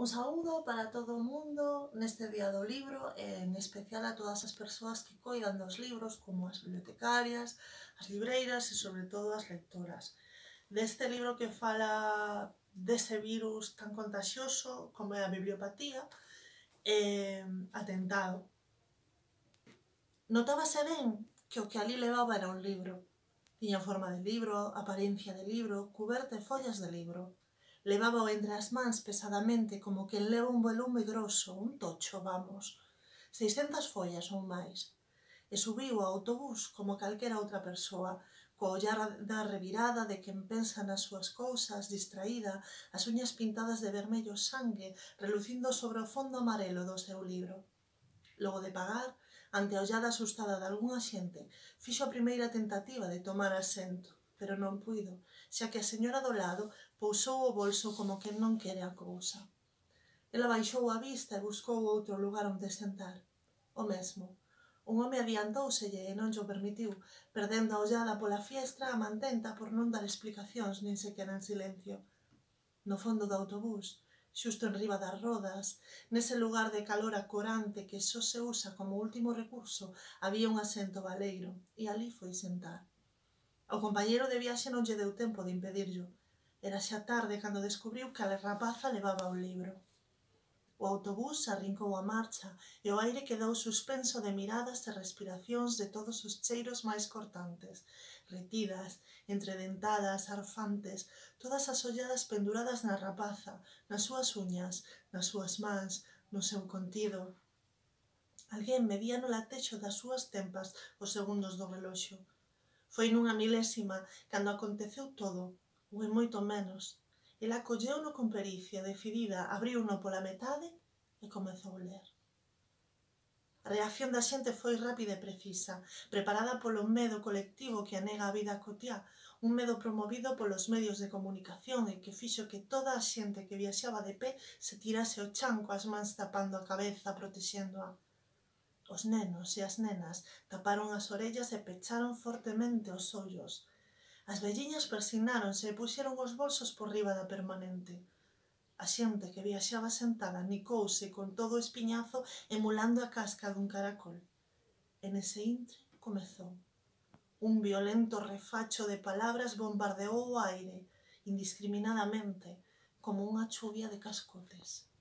Un saúdo para todo o mundo neste día do libro e en especial a todas as persoas que coidan dos libros, como as bibliotecarias, as libreiras e sobre todo as lectoras. Deste libro que fala dese virus tan contagioso como é a bibliopatía, atentado. Notábase ben que o que ali levaba era un libro. Tiña forma de libro, apariencia de libro, cuberta e follas de libro. Levábao entre as mans pesadamente como quen leva un volume grosso, un tocho, vamos, 600 follas ou máis. E subiu ao autobús como calquera outra persoa, coa ollar da revirada de quen pensa nas súas cousas, distraída, as uñas pintadas de vermello sangue, relucindo sobre o fondo amarelo do seu libro. Logo de pagar, ante a ollada asustada de algunha xente, fixo a primeira tentativa de tomar asento, pero non puido, xa que a señora do lado pousou o bolso como quen non quere a cousa. Ela baixou a vista e buscou outro lugar onde sentar. O mesmo. Un home adiantóuselle e non llo permitiu, perdendo a ollada pola fiestra a mantenta por non dar explicacións nin sequera en silencio. No fondo do autobús, xusto enriba das rodas, nese lugar de calor acorante que só se usa como último recurso, había un asento baleiro, e ali foi sentar. Ao compañeiro de viaxe non lle deu tempo de impedirllo. Era xa tarde cando descubriu que a rapaza levaba un libro. O autobús arrincou a marcha e o aire quedou suspenso de miradas e respiracións de todos os cheiros máis cortantes, retidas, entredentadas, arfantes, todas as olladas penduradas na rapaza, nas súas uñas, nas súas mans, no seu contido. Alguén medía no latexo das súas tempas os segundos do reloxo. Foi nunha milésima cando aconteceu todo, ou en moito menos. Ela colleuno con pericia, decidida, abriuno pola metade e comezou a ler. A reacción da xente foi rápida e precisa, preparada polo medo colectivo que anega a vida cotiá, un medo promovido polos medios de comunicación e que fixo que toda a xente que viaxaba de pé se tirase ao chan coas mans tapando a cabeza, protexéndoa. Os nenos e as nenas taparon as orellas e pecharon fortemente os ollos. As velliñas persignáronse e puxeron os bolsos por riba da permanente. A xente que viaxaba sentada nicouse con todo o espiñazo emulando a casca dun caracol. E nese intre comezou. Un violento refacho de palabras bombardeou o aire, indiscriminadamente, como unha chuvia de cascotes.